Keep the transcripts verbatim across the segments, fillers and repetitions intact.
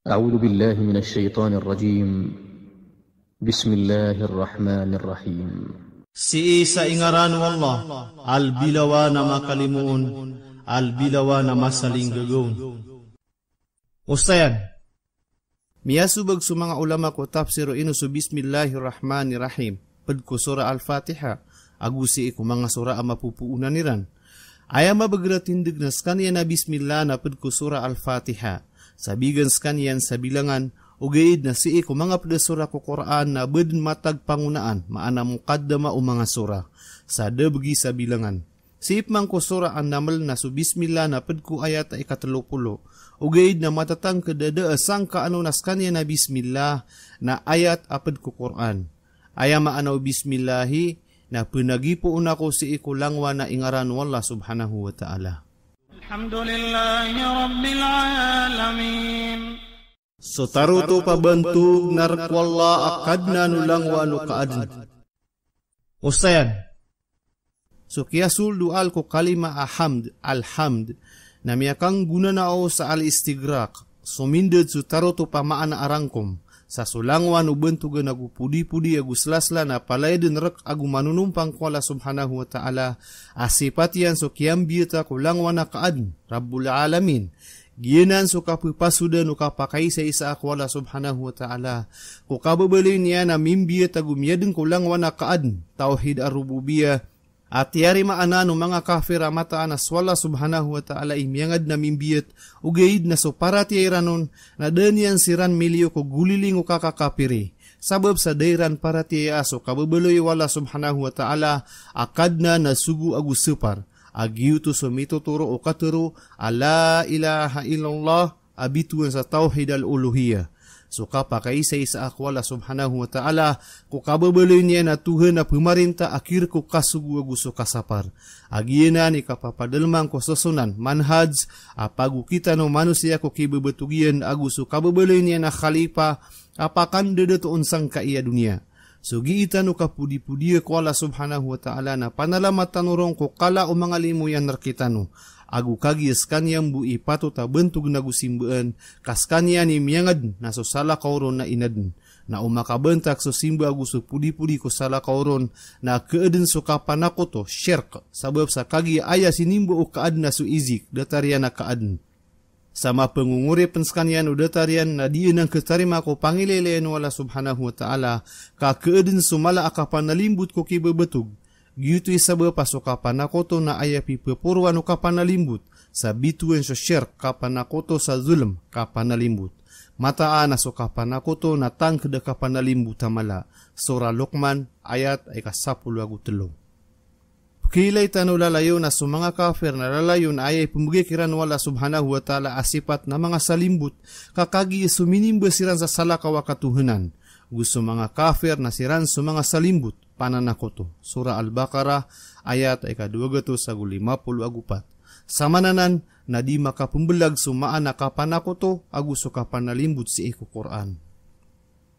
أعوذ بالله من الشيطان الرجيم. بسم الله الرحمن الرحيم. Sii sa ingaran o Allah, a lbi lawan a makalimoon, a lbi lawan a masalinggagaon. Osayan, miyasobag so manga ulama ko tafsir o ino so Bismillahir Rahmanir Rahim pd ko Surah Al-Fatiha, ago sii ko manga surah a mapopoonan iran. Aya mabagr a tindg na skaniyan a Bismillah na pd ko Surah Al-Fatiha. Sa bigan skaniyan sa bilangan, ogaid na sii ko manga pd a surah ko Qur'an na ba dn matag pangonaan, maana muqaddamah o manga surah. Sa da bgi sa bilangan. Sii pman ko Surah An-Naml na so Bismillah na pd ko ayat a ikatlo polo. Ogaid na matatangkd a da a sangkaan on a skaniyan a Bismillah na ayat a pd ko Qur'an. Aya maana o Bismillahi na pnagipoon ako sii ko langowan a ingaran o Allah Subhanahu wa Ta'ala. Alhamdulillahi Rabbil Alamin. So tarotop a bantog na rk o Allah a Kadnan o langowan o kaadn. Osayan, so kiyasold o al ko kalima a hamd, alhamd, na miyakanggonanao sa al-istighraq, so mindad so tarotop a maana a rangkom, sa so langowan o bantogan ago podipodi ago slasla na palaya dn rk ago manonompang ko Allah Subhanahu wa Ta'ala, a sipat iyan so kiyambiyata ko langowan a kaadn, Rabbul Alamin, Giyanan so kapepasodan o kapakaisaisa ko Allah Subhanahu wa Ta'ala. Ko kababaloy niyan a mimbiyat ago miyadn ko langowan a kaadn, tawhid ar-rububiyyah, a tiyarimaan o manga kafir a mataan a so Allah Subhanahu wa Ta'ala i miyangadn a mimbiyat, ogaid na so paratiyaya iran on, na da niyan siran miliyo ko goliling o kakakapiri. Sabap sa da iran paratiyaya a so kababaloy o Allah Subhanahu wa Ta'ala a Kadnan a sogo ago sapar. A giyoto so mitotoro o katharo a la ilaha illallah, a bitowan sa tawhid al-uluhiyyah. So kapakaisaisa ko Allah Subhanahu wa Ta'ala, ko kababaloy niyan a Tohan a pmarinta a kirk o kasogo ago so kasapar. A giyanan i kapapadalman ko sosonan, manhaj, a pagokit o manosiya ko kibabatog iyan ago so kababaloy niyan a khalifa, a pakandadat on sangkai a doniya. So giitan o kapodipodiya ko Allah Subhanahu wa Ta'ala na panalamatan o ron ko kala o manga limo iyan rkitano. Ago kagiya skaniyan bo i patot a bantogn ago simbaan, ka skaniyan i miyangadn na so salakaw ron na inadn. Na o makabantak so simba ago so podipodi ko salakaw ron, na kaadn so kapanakoto, shirk, sabap sa kagiya aya sinimba o kaadn na so izik, datar iyan a kaadn. Sa mapangongoripn skaniyan o datar iyan na di anan khatarima ko pangilaylayan o Allah Subhanahu wa Ta'ala, ka kaadn so mala a kapanalimbot ko kibabatog. Giyoto i sabap a so kapanakoto na aya pipaporoan o kapanalimbot, sa bitowan so shirk, kapanakoto, sa zulm, kapanalimbot. Mataan a so kapanakoto na tangkd a kapanalimbot a mala. Surah Luqman, ayat a ikasapolo ago tlo. Pkhailay tano lalayon a so manga kafir na lalayon a aya ipmbgay kiran o Allah Subhanahu wa Ta'ala a sipat na manga salimbot, ka kagiya so minimba siran sa salakaw a katohanan. Go so manga kafir na siran so manga salimbot, pananakoto. Surah Al-Baqarah, ayat a ikadowa gatos ago lima polo ago pat. Samananan na di makapmbalag so maana kapanakoto ago so kapanalimbot sii ko Qur'an.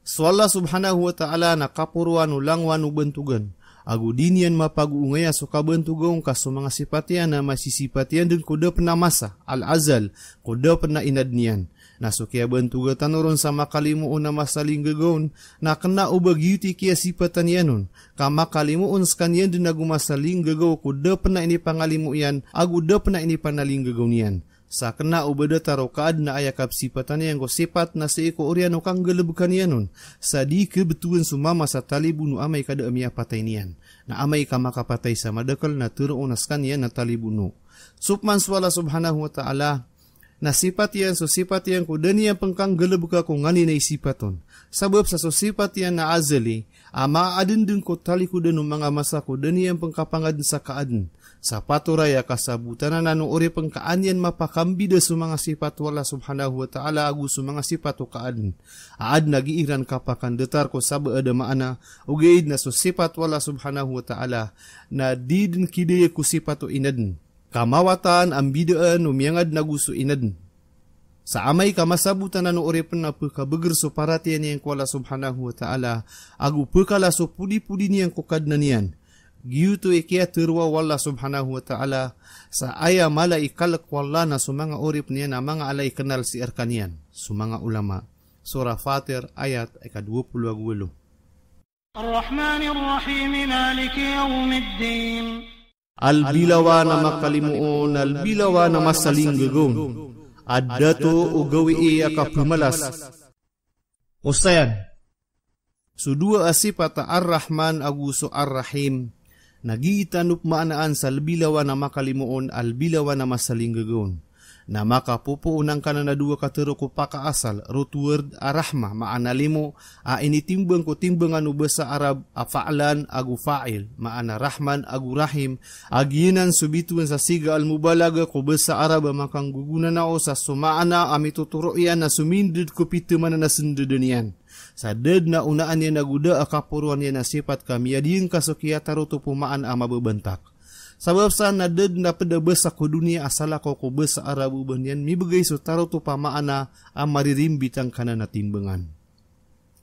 So Allah Subhanahu wa Ta'ala na kaporoan o langowan o bantogan, ago di niyan mapagoongaya so kabantoga on ka so manga sipat iyan na masisipat iyan dn ko da pn a masa, al-azal, ko da pn a inadn iyan. Na so kiyabantoga tano ron sa makalimoon a masalinggagaon, na kna o ba giyoto i kiyasipatan iyan on, ka makalimoon skaniyan dn ago masalinggagaw ko da pn a inipangalimo iyan, ago da pn a inipanalinggagaw niyan. Sa kna o ba datar o kaadn a aya kapsipatan iyan ko sipat na sii ko oriyan o kanggalbka niyan on, sa di khabtowan so mama sa talibon o amay ka da a miyapatay niyan. Na amay ka makapatay sa madakl na tharoon a skaniyan na talibon o. So pman so Allah Subhanahu wa Ta'ala, na sipat iyan so sipat iyan ko da niyan pn kanggalbka ko nganin a isipat on. Sabap sa so sipat iyan na azali, a maadn dn ko talikodan o manga masa ko da niyan pn kapangadn sa kaadn. Sa patoray a kasabotan anan o oripn ka an iyan mapakambida so manga sipat o Allah Subhanahu wa Ta'ala ago so manga sipat o kaadn. A adn a gii ran kapakandatar ko sabaad a maana, ogaid na so sipat o Allah Subhanahu wa Ta'ala, na di dn kidaya ko sipat o inadn. Ka mawatan a mbidaan o miyangadn ago so inadn. Sa amay ka masabot anan o oripn a pkabagr so paratiyaya niyan ko Allah Subhanahu wa Ta'ala, ago pkala so podipodi niyan ko Kadnan iyan. Giyoto i kiyateroa o Allah subhanahu wa ta'ala, sa aya mala i kalek o Allah na so manga oripn iyan a manga ala i knal sii rkaniyan, so manga ulama. Surah Fatir, ayat ika dowa polo ago walo. Ar-Rahmanir Rahim, Maliki Yawmiddin. Albilawan a makalimoon, albilawan a masalinggagaon. A dato o gawii a kapemalas. Osayan. So dowa a sipat a Ar-Rahman ago so Ar-Rahim, na gii tano pemaanaan sa albilawan a makalimoon, albilawan a masalinggagaon. Na makapopoon angkanan a dowa katero ko pakaasal, root word a rahma, maana limo, a initimbang ko timbangan o basa Arab a fa'lan ago fa'il, maana Rahman ago Rahim, a giyanan so bitowan sa siga al-mubalagha ko basa Arab a makanggogonanao sa so maana a mitotoro iyan na sominded ko piteman a sendeden iyan. Sa da den a onaan iyan ago da a kaporoan iyan a sipat ka miyadiyeng ka so kiyatarotop o maana a mababantak. Sabap sa na da den a ped a basa ko doniya a salakaw ko basa Arab o ba niyan mibegay so tarotop a maana a maririmbit angkanan a timbangan.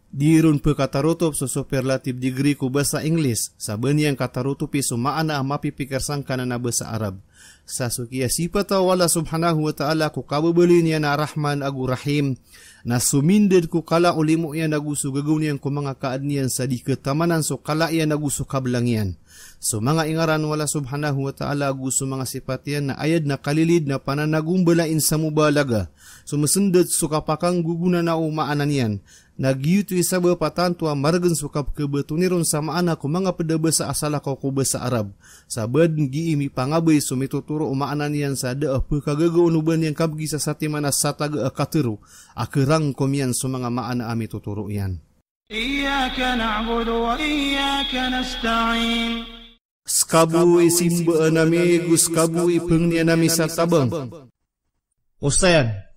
Di ron pekatarotop so superlative degree ko basa English, sa ba niyan katarotopi so maana a mapipikir sangkanan a basa Arab. Sa so kiyasipata o Allah subhanahu wa ta'ala ko kababaloy niyan a Rahman ago Rahim, na sominded ko kala o limo iyan ago so gagaw niyan ko manga kaadn iyan sa di ketamanan so kala iyan ago so kablang iyan. So manga ingaran o Allah subhanahu wa ta'ala ago so manga sipat iyan na aya den a kalilid na pananagombalain sa mubalagha. So mesended so kapakanggogonanao o maana niyan. Na giyoto i sabap a tanto a maregen so kapekebetoni ron sa maana ko manga ped a basa a salakaw ko basa Arab. Sa ba den gii mipangabay so mitotoro o maana niyan sa da a pekagagaon o ba niyan kabegi sa satiman a sataga a katero a kerangkom iyan so manga maana a mitotoro iyan. Iyyaka na'budu wa iyyaka nasta'in. Seka bo i simbaan ami, go seka bo i pengnian ami sa tabang. Osayan.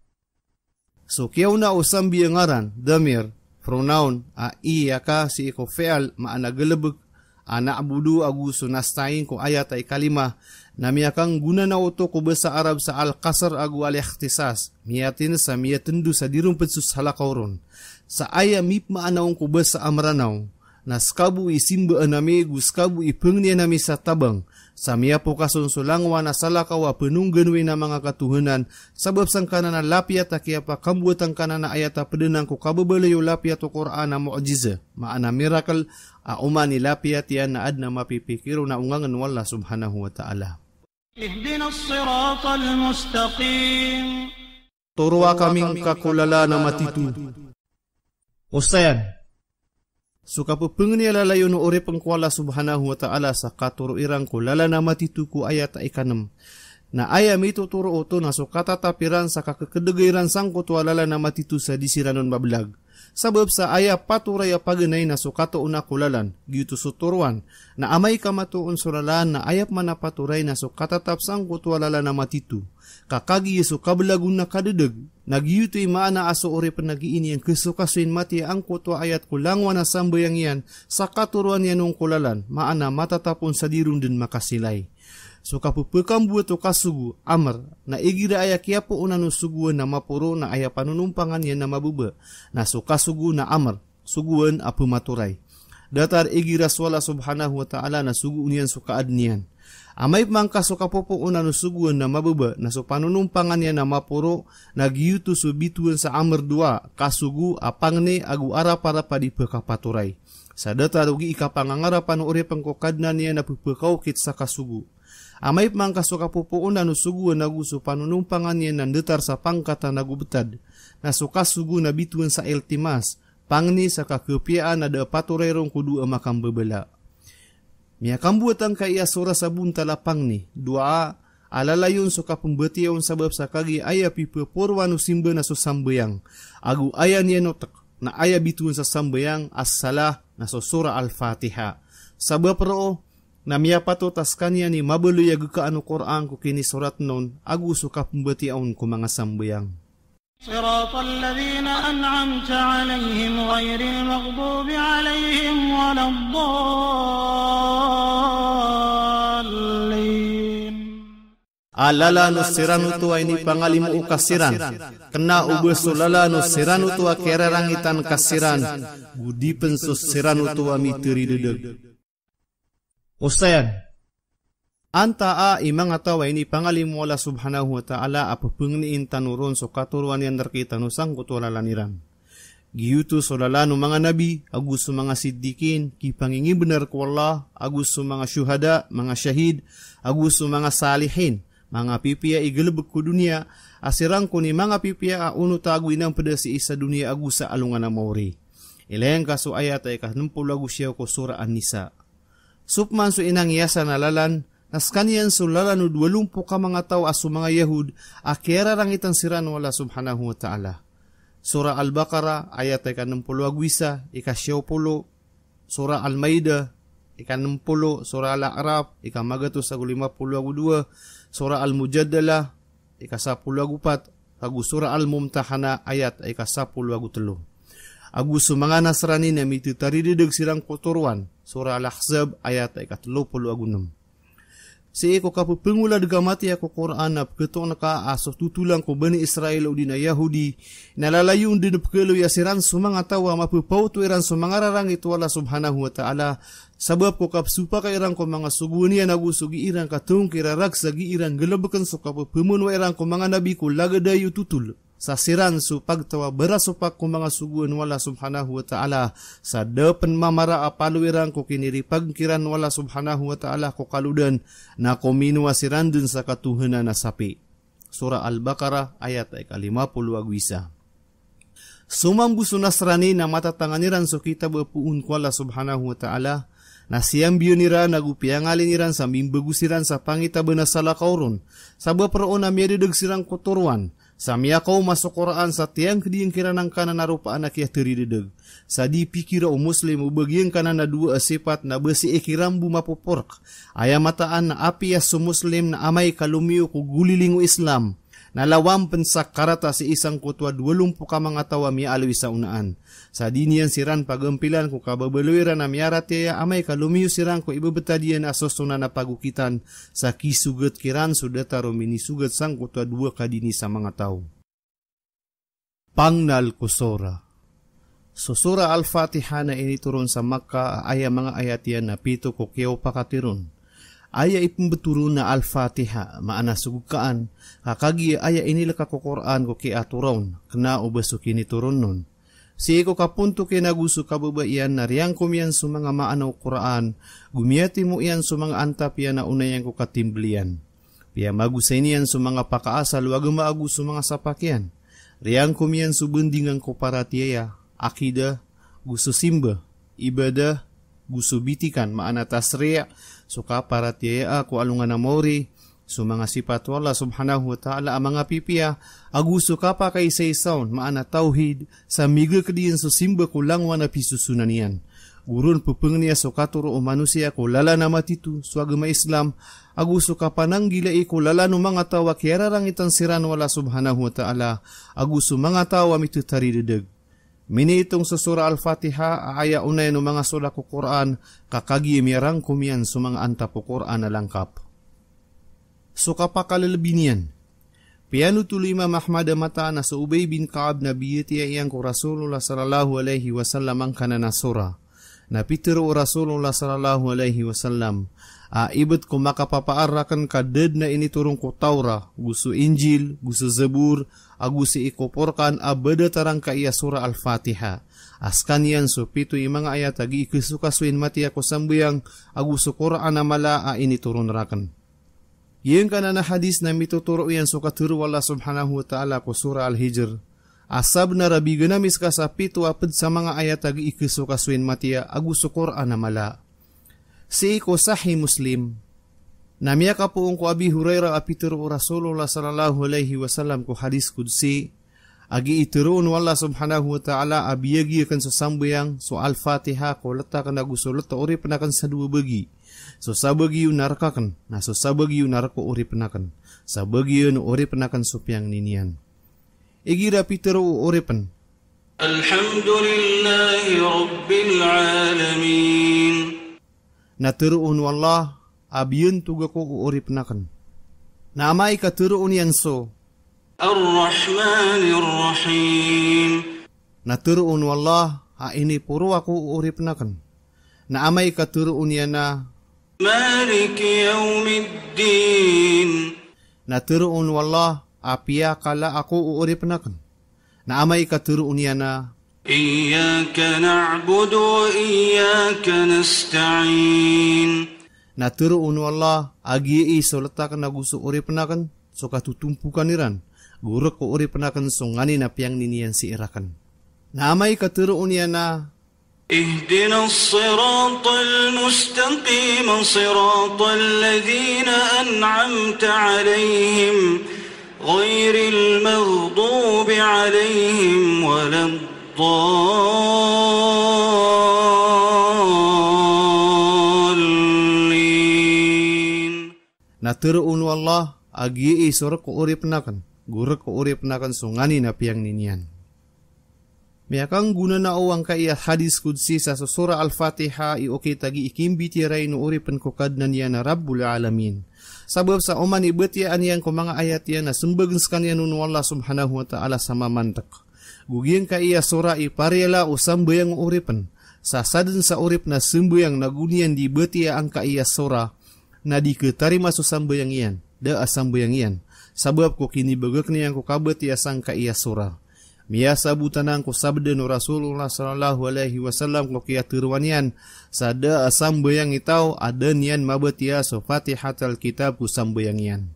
So kiyaona o sambi a ngaran, damir, pronoun, a iyyaka sii ko fi'l, maana galebek, a na'budu ago so nasta'in ko ayat a ikalima, na miyakanggonanao oto ko basa Arab sa al-qasr ago al-ikhtisas, miyatin sa miyatendo sa di ron ped so salakaw ron. Sa aya mipmaana on ko basa a Meranaw, na seka bo i simbaan ami, go seka bo i pengnian ami sa tabang, sa miyapokas on so langowan a salakaw a penongganowi na manga katohanan, sabap sangkanan a lapiyat a kiyapakamboatan kanan a ayat a ped anan ko kababaloy o lapiyat o Qur'an a mu'jiza, maana miracle, a oman i lapiyat iyan na aden a mapipikir on a ongangen o Allah subhanahu wa ta'ala. Ihdinas siratal mustaqim. Toroa kami ngka ko lalan a matito. Osayan. So kapepengni a lalayon o oripen ko Allah subhanahu wa ta'ala sa katoro iran ko lalan a matito ko ayat a ikanem. Na aya mitotoro oto na so katatap iran sa kakekedega iran sangkoto a lalan a matito sa di siran on mabelag. Sabap sa aya patoray a paganay na so katoona ko lalan, giyoto so toroan. Na amay ka matoon so lalan na aya peman a patoray na so katatap sangkoto a lalan a matito. Ka kagiya so kabelag on na kadedeg, na giyoto i maana a so oripen a gii niyan kesokasoyin matiya angkoto a ayat ko langowan a sambayang iyan, sa katoroan iyan on ko lalan, maana matatap on sa di ron den makasilay. So kapepekamboat o kasogo, amr, na igira aya kiyapoonan o sogoan na maporo na aya panonompangan iyan na mababa, na so kasogo na amr, sogoan a pematoray. Datar igira so Allah subhanahu wa ta'ala na sogoon iyan so kaadn iyan. Amay peman ka so kapopoonan o sogoan na mababa, na so panonompangan iyan na maporo, na giyoto so bitowan sa amr doa, kasogo a pangni ago araparap a di pekapatoray. Sa datar o gii kapangangarapan o oripen ko Kadnan iyan a pepekaokit sa kasogo. Amay peman ka so kapopoonan o sogoan ago so panonompangan iyan na ndatar sa pangkatan ago betad, na so kasogo na bitowan sa iltimas, pangni sa kakepiyaan a da a patoray ron ko doa a makambabala. Miyakamboat angkaya so ra sa bontal a pangni, doa, a lalayon so kapembatiya on sabap sa kagiya aya pipeporoan o simba na so sambayang. Ago aya niyan otek, na aya bitowan sa sambayang, as-salah, na so Surah Al-Fatiha. Sabap roo, na miyapatot a sekaniyan i mabaloy a gekaan o Qur'an ko kinisorat on, ago so kapembatiya on ko manga sambayang. Siratal ladhina an'amta alayhim ghayril maghdubi alayhim waladdallin. A lalan o siran oto a inipangalimo ka siran. Kena o ba so lalan o siran oto a kiyararangitan ka siran, go di pen so siran oto a miteridedeg. Osayan, antaa i manga taw a inipangalimo o Allah Subhanahu wa Ta'ala a pepengnin tano ron so katoroan iyan rekitano sangkoto a lalan iran. Giyoto so lalan o manga nabi, ago so manga siddiqin, kipangingibenar ko Allah, ago so manga shuhada, manga shahid, ago so manga salihin, manga pipiya i galebek ko doniya, a siran kon i manga pipiya a onota ago inampeda sii sa doniya ago sa alongan a maori. Ilaya ngka so ayat a ika nem polo ago siyaw ko Surah An-Nisa. So peman so inangiyasan a lalan, na sekaniyan so lalan o dowa lompo ka manga taw a so manga Yahud, a kiyararangitan siran o Allah Subhanahu wa Ta'ala. Surah Al-Baqarah, ayat a ika nem polo ago isa, ika siyaw polo, Surah Al-Maidah, ika nem polo, Surah Al-A'raf, ika magatos ago lima polo ago dowa, Surah Al-Mujadalah, ika sapolo ago pat, ago Surah Al-Mumtahanah, ayat a ika sapolo ago telo. Ago so manga Nasrani na mitetaridedeg siran ko toroan, Surah Al-Ahzab, ayat a ika telo polo ago nem. Sii ko kapepengolad ka matiya ko Qur'an na peketoon ka a so totolan ko Bani Israel odi na Yahudi, na lalayon den pekaloya siran so manga taw a mapepaoto iran so manga rarangit o Allah Subhanahu wa Ta'ala, sabap ko kapesopaka iran ko manga sogoan iyan ago so gii ran katongkira rakhs a gii ran galebeken so kapepemenowa iran ko manga nabi ko lagid a iyo totol. Sa siran so pagtaw a barasopak ko manga sogoan o Allah Subhanahu wa Ta'ala, sa da pen mamara a palo iran ko kiniripag kiran o Allah Subhanahu wa Ta'ala ko kalodan, na kominowa siran den sa katohanan a sapi. Surah Al-Baqarah, ayat a ika lima polo ago isa. So mambo so Nasrani na matatangan iran so kitab a poon ko Allah Subhanahu wa Ta'ala, na siyambiyan iran ago piyangalin iran sa mimbago siran sa pangitaban a salakaw ron, sabap roo na miyadedeg siran ko toroan, sa miyakaoma so Qur'an sa tiyangkediyan kiran angkanan a ropaan a kiyateridedeg. Sa di pikira o Muslim o ba giyangkanan a dowa a sipat na ba sii kiran bo mapoporek. Aya mataan na apiya so Muslim na amay ka lomiyo ko goliling o Islam, na lawan pen sa karata sii sangkoto a dowa lompo ka manga taw a miyaaloy sa onaan. Sa di niyan siran pagampilan ko kababaloy iran a miyaratiyaya amay ka lomiyo siran ko ibebetad iyan a sosonan a pagokitan, sa kisogat kiran so datar o minisogat sangkoto a dowa ka dini sa manga taw. Pangnal ko surah. So Surah Al-Fatiha na initoron sa Makkah a aya manga ayat iyan na pito ko kiyaopakatiron. Aya ipembetoron na Al-Fatiha, maana so gekaan, ka kagiya aya inileka ko Qur'an ko kiyaatoraon, kena o ba so kinitoron non. Sii ko kapontok iyan ago so kababa iyan na riyangkom iyan so manga maana o Qur'an, go miyatimo iyan so manga antap iyan a onay iyan ko katimbel iyan. Piyamagosay niyan so manga pakaasal o agama ago so manga sapak iyan. Riyangkom iyan so bandingan ko paratiyaya, akidah, go so simba, ibadah, go so bitikan, maana tasri', so kaparatiyaya ko alongan a maori, so manga sipat o Allah Subhanahu wa Ta'ala a manga pipiya, ago so kapakaisaisa on, maana tawhid, sa migeked iyan so simba ko langowan a pisosonan iyan. Go ron pepengeniya so katoro o manosiya ko lalan a matito, so agama Islam, ago so kapananggilai ko lalan o manga taw a kiyararangitan siran o Allah Subhanahu wa Ta'ala, ago so manga taw a mitetaridedeg. Miniitong so Surah Al-Fatiha a aya onayan o manga solah ko Qur'an, ka kagiya miyarangkom iyan so manga antap o Qur'an a langkap. So kapakalelebi niyan. Piyanothol o Imam Ahmad a mataan a so Ubay bin Ka'ab na biyatiya iyan ko Rasulullah sallallahu alaihi wasallam angkanan a surah. Na pitero o Rasulullah sallallahu alaihi wasallam a ibet ko makapapaar raken ka da den a initoron ko Tawrah, go so Injil, go so Zabur, ago sii ko Furqan a ba datar angkai a Surah Al-Fatiha. A sekaniyan so pito i manga ayat a gii kesokasoyin matiya ko sambayang, ago so Qur'an a mala a initoron raken. Giyangkanan a hadis na mitotoro iyan so katero o Allah Subhanahu wa Ta'ala ko Surah Al-Hijr. A sabnar a bigan ami seka sa pito a ped sa manga ayat a gii kesokasoyin matiya ago so Qur'an a mala. Sii ko Sahih Muslim, na miyakapoon ko Abi Hurairah a pitero o Rasulullah sallallahu alaihi wasallam ko hadis qudsi, a gii teroon o Allah Subhanahu wa Ta'ala a biyagi aken so sambayang, so Al-Fatiha, ko letaken ago so leta o oripen aken sa dowa bagi. So sabagi iyo na rek aken, na so sabagi iyo na rek o oripen aken. Sabagi iyo na oripen aken so piyangni niyan. Igira pitero o oripen. Alhamdulillahi Rabbil Alamin. Na teroon o Allah a biyantog ako o oripen aken. Na amay ka teroon iyan so Ar-Rahmanir Rahim. Na teroon o Allah a iniporo ako o oripen aken. Na amay ka teroon iyan a مالك يوم الدين. Na tharoon o Allah a piyakala ako o oripen aken. Na amay ka tharoon iyan a إياك نعبد وإياك نستعين. Na tharoon o Allah a giyai so letaken ago so oripen aken so katotompokan iran, go rek o oripen aken so nganin a piyangnin iyan sii raken. Na amay ka tharoon iyan a اهدنا الصراط المستقيم صراط الذين أنعمت عليهم غير المغضوب عليهم ولا الضالين. Na tharoon o Allah a giyai so rek o oripen aken, go rek o oripen aken so nganin a piyangnin iyan. Miyakanggona na o angkaiya hadis qudsi sa so Surah Al-Fatiha i okit a gii kimbitiyarai o oripen ko Kadnan iyan a Rabbul Alamin. Sabap sa oman i batiyaan iyan ko manga ayat iyan na sembagen sekaniyan on o Allah Subhanahu wa Ta'ala sa mamantek. Go giyangkaiya surah i pariyala o sambayang o oripen. Sa saden sa oripen a sembayang na go niyan di batiya angkaiya surah, na di ketarima so sambayang iyan, da a sambayang iyan. Sabap ko kinibagak niyan ko kabatiya sangkaiya surah. Miyasabotan anan ko sabda o Rasulullah sallallahu alaihi wasallam ko kiyatharo iyan, sa da a sambayang i taw a da niyan mabatiya so Fatihatal Kitab ko sambayang iyan.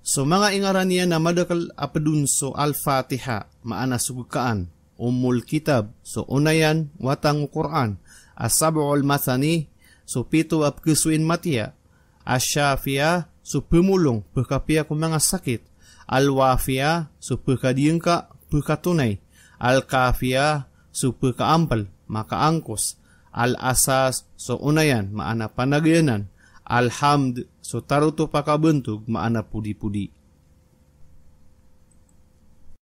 So manga ingaran iyan a madakel a ped on so Al-Fatiha, maana so gekaan, Ummul Kitab, so onayan, wata o Qur'an, As-Sab'ul Mathani, so pito a pekesoin matiya, Ash-Shafiyah, so pemolong, pekapiya ko manga sakit, Al-Wafiyah, so pekadiyengka, pekatonay, Al-Kafiyah, so pekaampel, makaangkos, Al-Asas, so onayan, maana panagayanan, Al-Hamd, so tarotop a kabantog, maana podipodi.